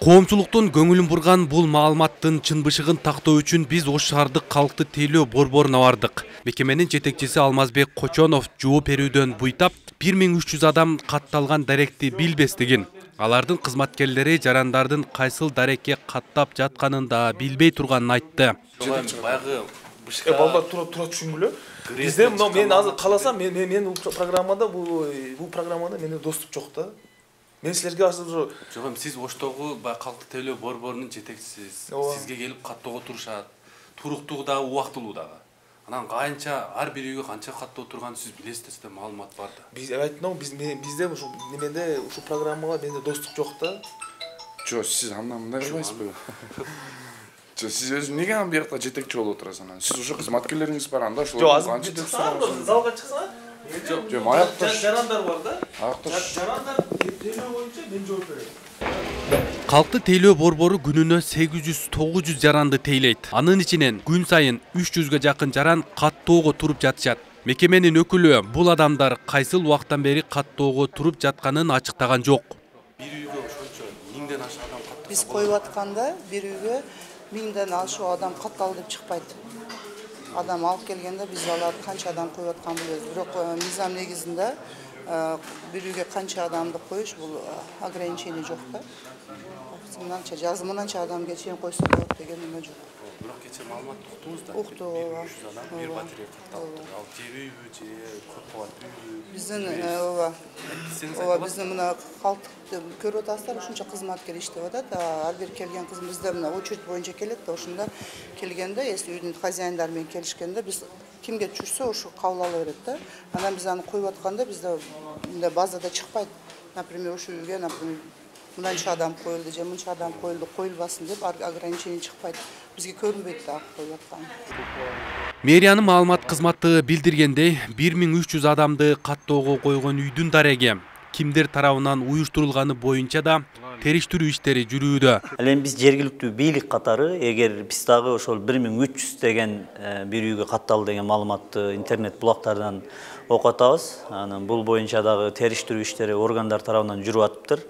Коомчулуктун көңүлүн бурган бул маалыматтын чынбышыгын тактоо үчүн биз Ош шаардык калкты тейлөө борборуна бардык. Мекеменин жетекчиси Алмазбек Кочонов жооп берүүдөн буйтап 1300 адам катталган даректи билбестигин, алардын кызматкерлери жарандардын кайсыл дарекке каттап жатканын да билбей турганын айтты. Баягы балдар тура түшүнгүлө. Бизде мен азыр каласам, мен бул программада менде доступ жок да. Мен силерге азыр жок, сиз Оштогу калкты тейлөө борборунун жетекчисисиз. Сизге келип каттоого турушат. Туруктуу дагы, убактылуу дагы. Анан канча ар бир үйгө канча каттоо турганын сиз билесиз да, маалымат бар да. Биз айттым, бизде ушу неменде ушу программага менде доступ жок да. Жок, сиз андан мындай кылбайсызбы? Жок, сиз өзү эмнеге анан биякта жетекчи болуп отурасыз анан? Сиз ушу кызматкерлериңиз бар анда ошолор канча деп сураңыз. Залга чыксаңар. Жок, аякташ. Жарандар бар да. Аякташ. Жарандар тейлөө боюнча мен жооп берем. Калкты тейлөө борбору күнүнө 800-900 жаранды тейлейт. Анын ичинен күн сайын 300га жакын жаран каттоого туруп жатышат. Мекеменин өкүлү бул адамдар кайсыл убактан бери каттоого туруп жатканын ачыктаган жок. Бир үйгө ошончо 1000ден ашык адам катталса. Биз коюп атканда бир үйгө 1000ден ашык адам катталды деп чыкпайт. Адам алып келгенде биз аларды канча адам коюп атканын билебиз. Бирок мыйзам негизинде бир үйгө канча адамды коюш бул ограничение жок да. Мынанча жазым мынанча адамга чейин койсо болот деген эме жок. Бирок кече маалымат уктуңуз да. 1300 адам бир батарея катталды. Ал же үйбү, же көп кабаттуу үйбү? Биздин биздин мына калкты көрүп атасыздар, ушунча кызматкер иштеп атат. Ар бир келген кыз бизде мына очередь боюнча келет да, ошондо келгенде, если үйдүн хозяиндары менен келишкенде биз кимге түшсө ошо кабыл ала берет да. Анан биз аны коюп атканда бизде мындай базада чыкпайт. Например, ошо үйгө, например, мынанча адам коюлду же мынча адам коюлду, коюлбасын деп ограничение чыкпайт. Бизге көрүнбөйт да коюп аткан. Мэриянын маалымат кызматы билдиргендей, 1300 адамды каттоого койгон үйдүн дареги кимдер тарабынан уюштурулганы боюнча да териштирүү иштери жүрүүдө. Ал эми биз жергиликтүү бийлик катары, эгер биз дагы ошол 1300 деген бир үйгө катталды деген маалыматты интернет булактардан окуп атабыз. Анан бул боюнча дагы териштирүү иштери органдар тарабынан жүрүп атыптыр.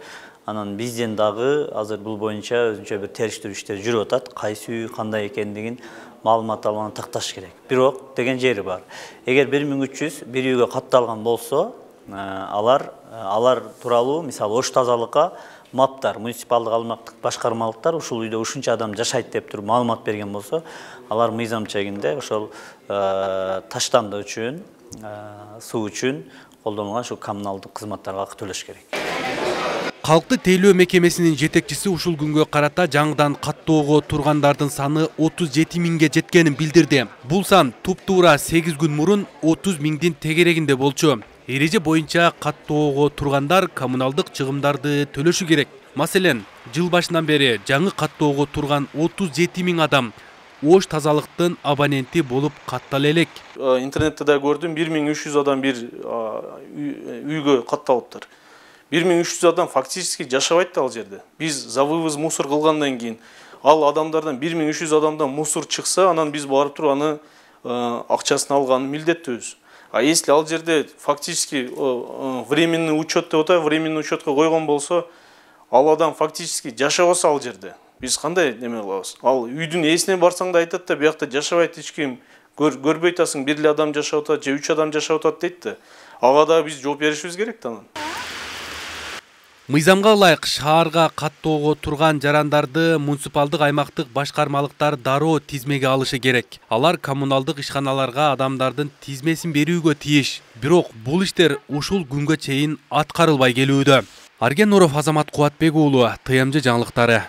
Анан бизден дагы азыр бул боюнча өзүнчө бир териштирүү иштери жүрүп атат. Кайсы үй кандай экендигин маалымат алып такташ керек. Бирок деген жери бар. Эгер 1300 бир үйгө катталган болсо, алар тууралуу мисалы Ош тазалыкка маптар, муниципалдык аймактык башкармалыктар ушул үйдө ушунча адам жашайт деп туруп маалымат берген болсо, алар мыйзам чегинде ошол таштанды үчүн, суу үчүн колдонулган ушул коммуналдык кызматтарга акы төлөш керек. Калкты тейлөө мекемесинин жетекчиси ушул күнгө карата жаңыдан каттоого тургандардын саны 37 миңге жеткенин билдирди. Бул сан туп-туура 8 күн мурун 30 миңдин тегерегинде болчу. Эреже боюнча каттоого тургандар коммуналдык чыгымдарды төлөшү керек. Маселен, жыл башынан бери жаңы каттоого турган 37 миң адам Ош тазалыктын абоненти болуп каттала элек. Интернетте да көрдүм, 1300 адам бир үйгө катталыптыр. 1300 адам фактически жашабайт ал жерде. Биз за вывоз мусор кылгандан кийин ал адамдардан 1300 адамдан мусор чыкса, анан биз барып туруп аны акчасын алганы милдеттүүбүз. А если ал жерде фактически временный учет деп атат, временный учетко койгон болсо, ал адам фактически жашабаса ал жерде, биз кандай неме кылабыз? Ал үйдүн ээсине барсаң да айтат да, биякта жашабайт эч ким, көрбөй атасың, бир эле адам жашап атат же 3 адам жашап атат дейт да. Ага да биз жооп беришибиз керек да анан. Мыйзамга ылайык шаарга каттоого турган жарандарды муниципалдык аймактык башкармалыктар дароо тизмеге алышы керек. Алар коммуналдык ишканаларга адамдардын тизмесин берүүгө тийиш. Бирок бул иштер ушул күнгө чейин аткарылбай келүүдө. Арген Нуров, Азамат Кубатбек уулу, ТМЖ жаңылыктары.